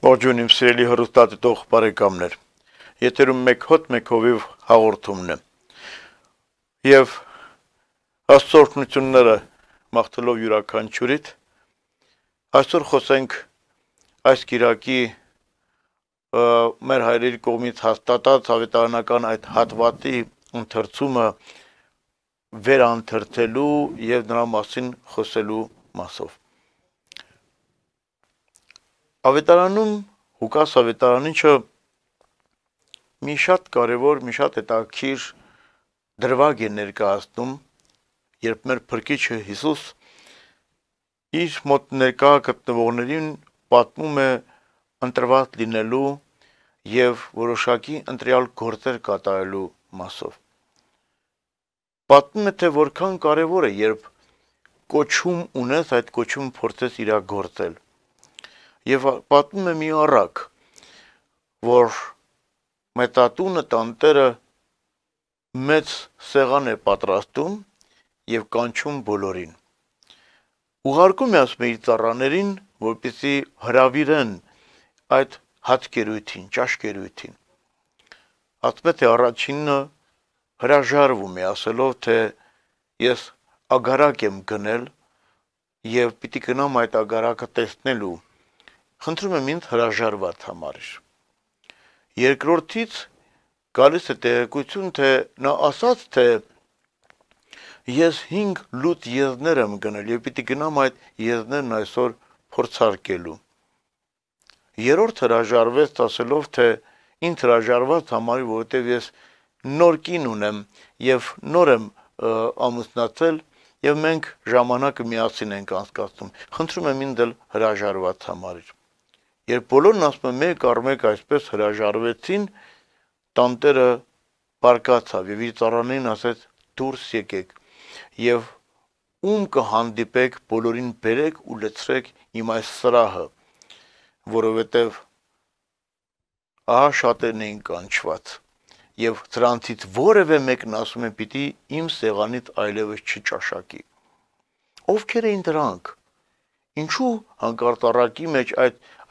Ողջույն իմ սիրելի հեռուստադիտող բարեկամներ։ Եթերում մեկ հոտ մեկ հովիվ հաղորդումն է։ Եվ աստծորությունները մաղթելով յուրաքանչյուրիդ, այսօր խոսենք այս կիրակի մեր հայրերի կողմից հաստատած ավետարանական այդ հատվածի ընթերցումը վերանթերթելու եւ նրա մասին խոսելու մասով։ Ավետարանում Ղուկաս ավետարանիչը մի շատ կարևոր, մի շատ հետաքրքիր դրվագ է ներկայացնում, երբ մեր Փրկիչը Հիսուս իր մոտ ներկա գտնվողներին պատմում է ընտրված լինելու եւ որոշակի ընտրյալ գործեր կատարելու մասով։ Պատմում է, թե որքան կարևոր է, երբ կոչում ունես, այդ կոչումը փորձես իրագործել։ Եվ պատմում է մի առակ, որ մեծատունը տանտերը մեծ սեղան է պատրաստում եւ կանչում բոլորին։ Ուղարկում է ասում իր ծառաներին, որպեսզի հրավիրեն այդ հացկերույթին, ճաշկերույթին։ Ասում է, թե առաջինը հրաժարվում է, ասելով, թե ես ագարակ եմ գնել եւ պիտի գնամ այդ ագարակը տեսնելու։ Խնդրում եմ ինձ հրաժարված համարիր։ Երկրորդից գալիս է տեղեկություն, թե նա ասաց, թե ես 5 լուտ եզներ եմ գնել եւ պիտի գնամ այդ եզներն այսօր փորձարկելու։ Երրորդ հրաժարվեց ասելով, թե ինձ հրաժարված համարի, որովհետեւ ես նոր կին ունեմ եւ նոր եմ ամուսնացել եւ մենք ժամանակը միասին ենք անցկացնում։ Խնդրում եմ ինձ հրաժարված համարիր։ Երբ բոլորն ասում են մեկ առ մեկ այսպես հրաժարվեցին, տանտերը բարկացավ եւ իր ծառաներին ասեց դուրս եկեք եւ ում կհանդիպեք բոլորին բերեք ու լցրեք իմ այս սրահը, որովհետեւ ահա շատերն էին կանչված եւ նրանցից որևէ մեկն ասում է պիտի իմ սեղանից այլևս չճաշակի։ Ովքեր էին դրանք։ Ինչու հանկարծ առակի մեջ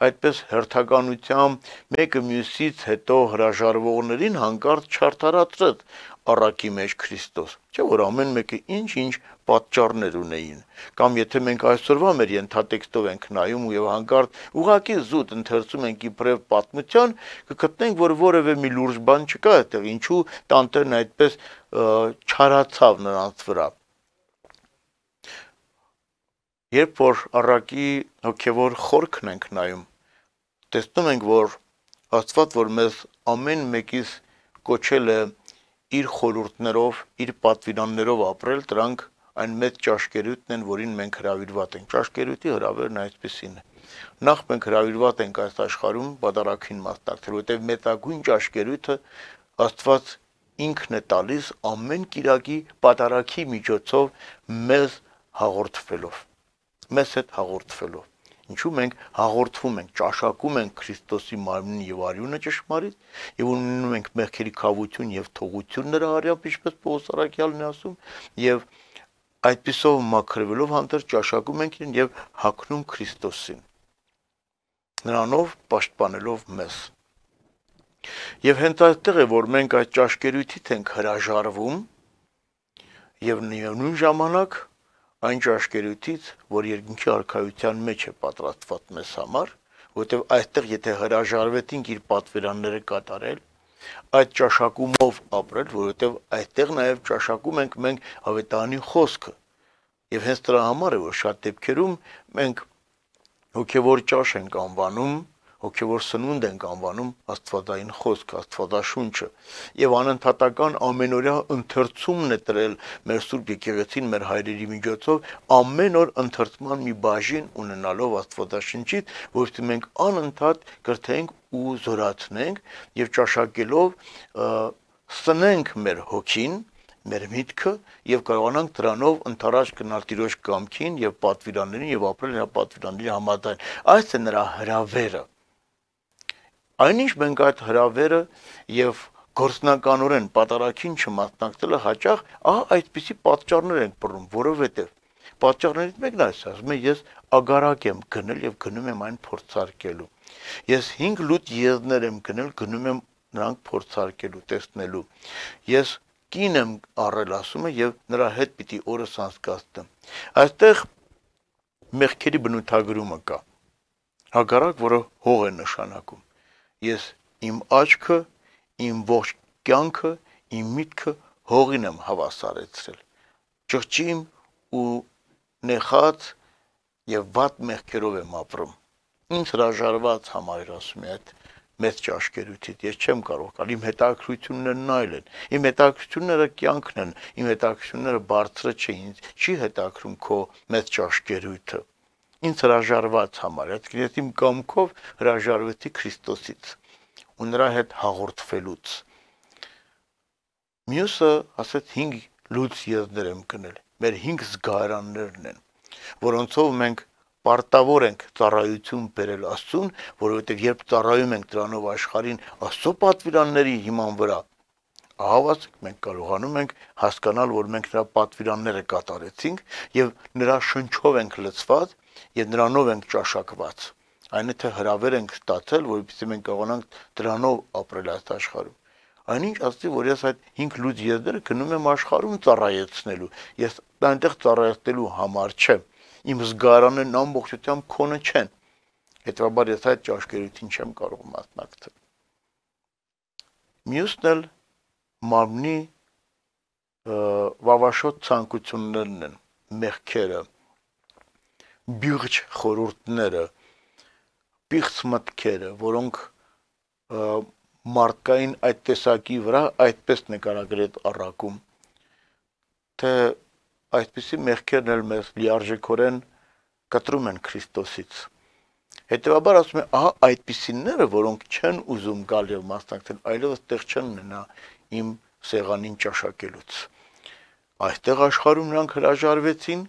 այդպես հերթականությամբ մեկը մյուսից հետո հրաժարվողներին հանկարծ չարթարացրեց առակի մեջ Քրիստոս, չէ՞ որ ամեն մեկը ինչ պատճառներ ունեին, կամ եթե մենք այսօրվա մեր ենթատեքստով ենք նայում եւ հանկարծ ուղղակի զուտ ընթերցում ենք իբրև պատմության, կգտնենք, որ որևէ մի լուրջ բան չկա այդտեղ, ինչու տանտերն այդպես չարացավ նրանց վրա։ Երբ որ առակի հոգևոր խորքն ենք նայում, տեսնում ենք, որ Աստված, որ մեզ ամեն մեկից կոչել է իր խորհուրդներով, իր պատվիրաններով ապրել, դրանք այն մեծ ճաշկերույթն են, որին մենք հրավիրված ենք։ Ճաշկերույթի հրավերն այսպեսին է։ Նախ մենք հրավիրված ենք այս աշխարհում պատարագին մասնակցել, որովհետև մեծագույն ճաշկերույթը Աստված ինքն է տալիս ամեն կիրակի պատարագի միջոցով մեզ հաղորդվելով։ Մեզ հետ հաղորդվելով։ Ինչու մենք հաղորդվում ենք, ճաշակում ենք Քրիստոսի մարմնին եւ արյունը ճշմարիտ եւ ունենում ենք մեղքերի քավություն եւ թողություն նրա արյամբ, ինչպես Պողոս առաքյալն է ասում, եւ այդպիսով մաքրվելով հանդերձ ճաշակում ենք իրեն եւ հագնում Քրիստոսին, նրանով պաշտպանելով մեզ։ Եվ հենց այդտեղ է, որ մենք այդ ճաշկերույթից ենք հրաժարվում եւ նույն ժամանակ այն ճաշկերույթից, որ երկնքի արքայության մեջ է պատրաստված մեզ համար, որովհետև այստեղ եթե հրաժարվեցինք իր պատվիրանները կատարել, այդ ճաշակումով ապրել, որովհետև այստեղ նաև ճաշակում ենք մենք ավետարանի խոսքը, եւ հենց դրա համար է, որ շատ դեպքերում մենք հոգևոր ճաշ ենք անվանում, հոգևոր սնունդ ենք անվանում աստվածային խոսքը, աստվածաշունչը, եւ անընդհատական ամենօրյա ընթերցումն է տրել մեր Սուրբ Եկեղեցին, մեր հայրերի միջոցով, ամեն օր ընթերցման մի բաժին ունենալով աստվածաշնչից, որովհետեւ մենք անընդհատ կրթենք ու զորացնենք եւ ճաշակելով սնենք մեր հոգին, մեր միտքը եւ կարողանանք դրանով ընթരാճ գնալ Տիրոջ կամքին եւ պատվիրաններին եւ ապրել նրա պատվիրանների համաձայն։ Այս է նրա հրավերը։ Այնինչ մենք այդ հրավերը եւ գործնականորեն պատարագին չմասնակցելը հաճախ այդպիսի պատճառներ ենք բռնում, որովհետեւ պատճառներից մեկն է, ասում եմ, ես ագարակ եմ գնել եւ գնում եմ այն փորձարկելու։ Ես 5 լուտ եզներ եմ գնում եմ նրանք փորձարկելու, տեսնելու։ Ես կին եմ առել, ասում է, եւ նրա հետ պիտի օրս անցկացնեմ։ Այստեղ մեղքերի բնութագրումը կա։ Հակառակ, որը հող է նշանակում։ Ես իմ աչքը, իմ ողջ կյանքը, իմ միտքը հողին եմ հավասարեցրել։ Ճղճիմ ու նեխած եւ վատ մեղքերով եմ ապրում։ Ինձ հրաժարված համարել, ասում է, այդ մեծ ճաշկերույթից, ես չեմ կարող գալ, իմ հետաքրքրություններն այլ են, իմ հետաքրքրությունները կյանքն են, իմ հետաքրքրությունները բարձրը չէ, ինձ չի հետաքրում քո մեծ ճաշկերույթը, ինձ հրաժարված համարել, ես իմ կամքով հրաժարվեցի Քրիստոսից ու նրա հետ հաղորդվելուց։ Մյուսը ասեց 5 լուծ եզներ եմ գնել, մեր 5 զգայարաններն են, որոնցով մենք պարտավոր ենք ծառայություն բերել Աստծուն, որովհետև երբ ծառայում ենք դրանով աշխարհին Աստծո պատվիրանների հիման վրա, ահավասիկ մենք կարողանում ենք հասկանալ, որ մենք նրա պատվիրանները կատարեցինք եւ նրա շնչով ենք լցված եւ նրանով ենք ճաշակված։ Այն է թե հրավեր ենք ստացել, որովհետեւ մենք կարողանանք դրանով ապրել այս աշխարհում։ Այնինչ ասի, որ ես այդ 5 լուծ եզները գնում եմ աշխարհում ծառայեցնելու, ես այնտեղ ծառայեցնելու համար չեմ։ Իմ զգարաններն ամբողջությամբ քոնը չեն։ Հետևաբար ես այդ ճաշկերույթին չեմ կարող մասնակցել։ Մյուսն էլ մարմնի վավաշոտ ցանկություններն են, մեղքերը, բյուղջ խորհուրդները, պիղծ մտքերը, որոնք մարդկային այդ տեսակի վրա այդպես նկարագրել առակում, թե այսպիսի մեղքերն էլ մեզ լիարժեքորեն կտրում են Քրիստոսից։ Հետևաբար ասում է, ահա այդպիսիները, որոնք չեն ուզում գալ եւ մասնակցել, այլևս տեղ չեն ունենա իմ սեղանին ճաշակելուց։ Այստեղ աշխարհում նրանք հրաժարվեցին,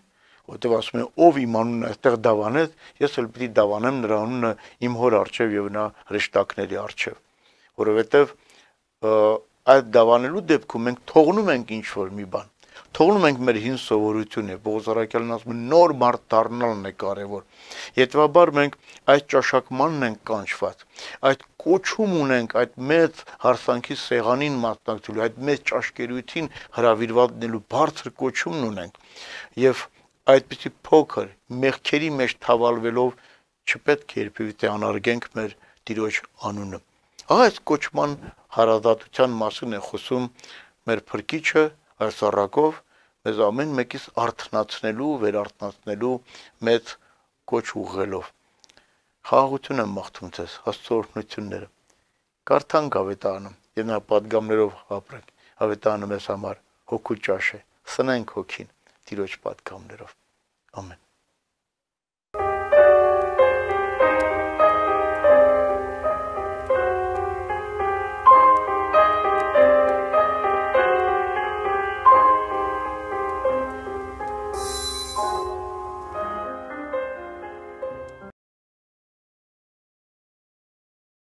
որտեղ ասում է, ով իմ անունը այստեղ դավանեց, ես էլ պիտի դավանեմ նրա անունը իմ հոր առջև եւ նա հրեշտակների առջև, որովհետեւ այդ դավանելու դեպքում մենք թողնում ենք ինչ որ մի բան, թողնում ենք մեր հին սովորությունը, Պողոս առաքյալն ասում է նոր մարդ դառնալն է կարևոր։ Հետևաբար մենք այդ ճաշակմանն ենք կանչված, այդ կոչում ունենք, այդ մեծ հարսանքի սեղանին մասնակցելու, այդ մեծ ճաշկերույթին հրավիրված լինելու բարձր կոչումն ունենք եւ այդպիսի փոքր մեղքերի մեջ թավալվելով չպետք է երբևէ անարգենք մեր Տիրոջ անունը։ Այս կոչման հարազատության մասին է խոսում մեր Փրկիչը այս առակով մեզ ամեն մեկից արթնացնելու, վերարթնացնելու մեծ կոչ ուղղելով։ Խաղաղություն եմ մաղթում ձեզ, Աստծո օրհնությունները։ Կարդանք ավետարանը եւ նա պատգամներով ապրենք։ Ավետարանը մեզ համար հոգու ճաշ է։ Սնենք հոգին Տիրոջ պատգամներով։ Ամեն։